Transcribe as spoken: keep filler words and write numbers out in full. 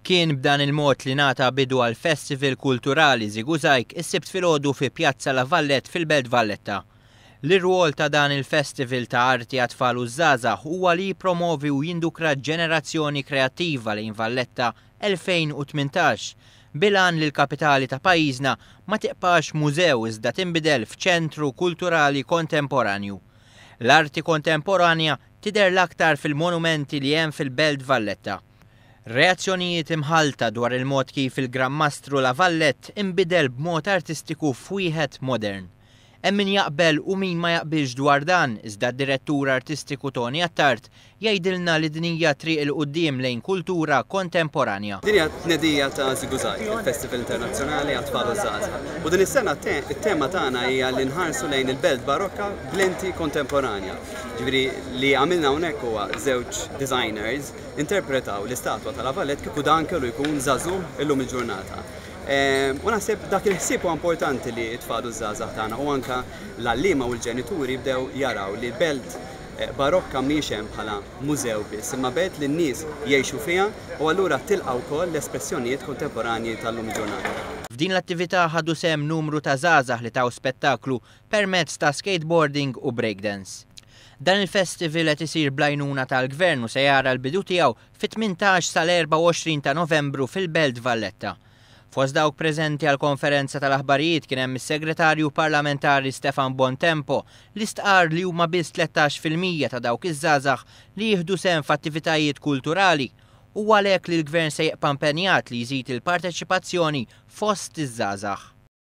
Kien b'dan il-mod li ngħata bidu għal Festival Kulturali ŻiguŻajg is-Sibt filgħodu fi Pjazza La Vallette fil-Belt Valletta. L-irwol ta' dan il-festival ta' arti għat-tfal u żgħażagħ huwa li jippromovi u jindukra ġenerazzjoni kreattiva lejn Valletta elfejn u tmintax, bil-għan li l-kapitali ta' pajjiżna ma tiqpax mużew iżda tinbidel f'ċentru kulturali kontemporanju. L-arti kontemporanja tidher l-aktar fil-monumenti li hemm fil-Belt Valletta. Reazzjonijiet imħalta dwar il-mod kif il-Gran Mastru La Vallette inbidel b'mod artistiku f'wieħed modern. Hemm min jaqbel u min ma jaqbilx dwar dan, iżda d-direttur artistiku Toni Attard jgħidilna li din hija triq il quddiem lejn kultura kontemporanja. Din hija tnedija ta' ŻiguŻajg, il-Festival Internazzjonali għat-Tfal u Żgħażagħ. U din is-sena it-tema tagħna hija li nħarsu lejn il-belt barokka b'lenti kontemporanja. Ġifieri li għamilna hawnhekk huwa żewġ designers interpretaw l-istatwa ta' La Vallette kieku dan kellu jkun żagħżugħ illum il-ġurnata. U naħseb dak il-ħsieb huwa importanti li t-tfal u żgħażagħ tagħna u anke l-għalliema u l-ġenituri bdew jaraw li belt barokka mhijiex hemm bħala mużew biss, imma belt li n-nies jgħixu fiha u allura tilqa' wkoll l-espressjonijiet kontemporanji tal-lum il-ġurnata. F'din l-attività ħadu sehem numru ta' żgħażagħ li taw spettaklu permezz ta' skateboarding u breakdance. Dan il-festival qed isir bl-għajnuna tal-Gvern u se jara l-bidu tiegħu fit-tmintax sal-erbgħa u għoxrin ta' Novembru fil-Belt Valletta. Fost dawk preżenti għal konferenza tal-aħbarijiet kien hemm is-Segretarju Parlamentari Stefan Bontempo li stqarr li huma biss tlettax fil-mija ta' dawk iż-żgħażagħ li jieħdu sehem f'attivitajiet kulturali u għalhekk li l-Gvern se jibqa' impenjat li jżid il-parteċipazzjoni fost iż-żgħażagħ.